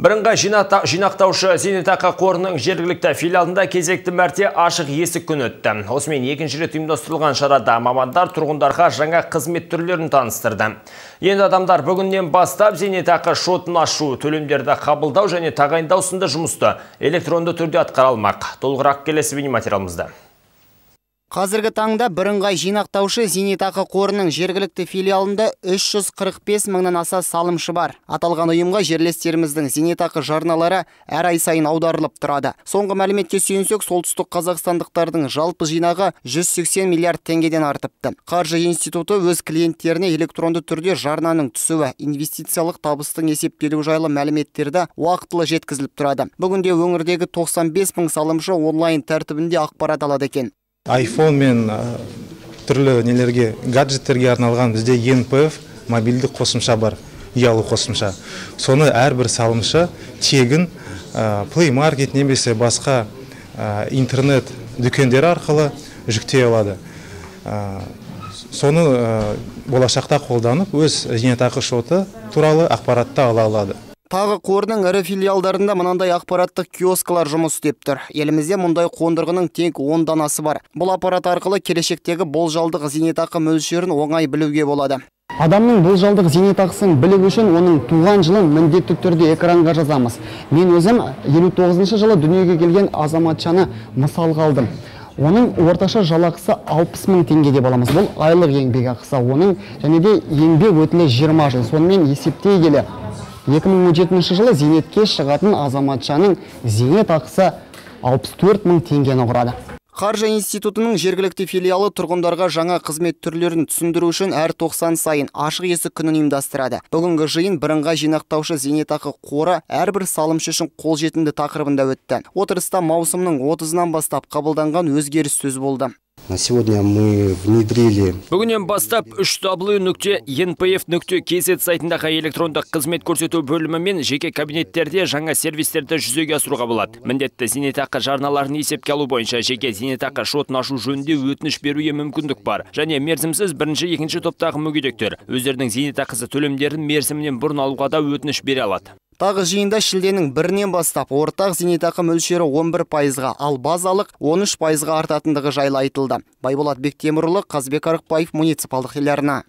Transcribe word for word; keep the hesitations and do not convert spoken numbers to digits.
Бірыңғай жинақтаушы зейнетақы қорының жергілікті филиалында кезекті мәрте ашық есік күні өтті. Осымен екінші рет ұйымдастырылған шарада мамандар тұрғындарға жаңа қызмет түрлерін таныстырды. Енді адамдар бүгіннен бастап зейнетақы шотын ашу, төлемдерді қабылдау және тағайындау сынды жұмысты электронды түрде атқара алмақ. Толығырақ келесі бейнематериалымызда. Қазіргі таңда бірыңғай жинақтаушы зейнетақы қорының жергілікті филиалында үш жүз қырық бес мыңнан аса салымшы бар. Аталған ұйымға жерлестеріміздің зейнетақы жарналары әр ай сайын аударылып тұрады. Соңғы мәліметке сүйенсек, солтүстік қазақстандықтардың жалпы жинағы жүз сексен миллиард теңгеден артыпты. Қаржы институты өз клиенттеріне электронды түрде жарнаның түсуі, инвестициялық табыстың есептелуі жайлы мәліметтерді уақытылы жеткізіліп тұрады. Бүгінде өңірдегі тоқсан бес мың салымшы онлайн тәртібінде ақпарат алады екен. айфон мен түрлі нелерге, гаджеттерге арналған бізде ен пэ эф мобильді қосымша бар, ұялы қосымша. Соны әрбір салымшы тегін Play Market немесе басқа интернет дүкендері арқылы жүктей алады. Соны болашақта қолданып, өз зейнетақы шоты туралы ақпаратты ала алады. Тағы қордың ірі филиалдарында мынандай ақпараттық киоскалар жұмыс істеп тұр. Елімізде мұндай қондырғының тек он данасы бар. Бұл аппарат арқылы келешектегі болжалдық зейнетақы мөлшерін оңай білуге болады. Адамның болжалдық зейнетақысын білу үшін оның туған жылын міндетті түрде экранға жазамыз. Мен өзім елу тоғызыншы жылы дүниеге келген азаматшаны мысалға алдым. Оның орташа жалақысы алпыс мың теңге деп аламыз. Бұл айлық еңбек ақысы. Оның және де еңбек өтілі жиырма жыл. Сонымен есептей келе екі мың он жетінші жылы зейнетке шығатын азаматшаның зейнетақысы алпыс төрт мың теңгені құрады. Қаржы институтының жергілікті филиалы тұрғындарға жаңа қызмет түрлерін түсіндіру үшін әр тоқсан сайын ашық есік күнін ұйымдастырады. Бүгінгі жиын бірыңғай жинақтаушы зейнетақы қоры әрбір салымшы үшін қолжетімді тақырыбында өтті. Отырыста маусымның отызынан бастап қабылданған өзгеріс сөз болды. На сегодня мы внедрили. Бүгінен бастап үш дабл ю нүкте ен пэ эф нүкте кз сайтындағы электрондық қызмет көрсету бөлімі мен жеке кабинеттерде жаңа сервистерді жүзеге асыруға болады. Міндетті зейнетақы жарналарын есепке алу бойынша жеке зейнетақы шотын ашу жөнінде өтініш беруге мүмкіндік бар. Және мерзімсіз бірінші, екінші топтағы мүгедектер өздерінің зейнетақысы төлемдерін мерзімінен бұрын алуға да өтініш бере алады. Тағы жиында шілденің бірінен бастап ортақ зейнетақы мөлшері он бір пайызға, ал базалық он үш пайызға артатындығы жайлы айтылды. Байболат Бектемірұлы, Қазбек Арықбаев, муниципалдық телеарна.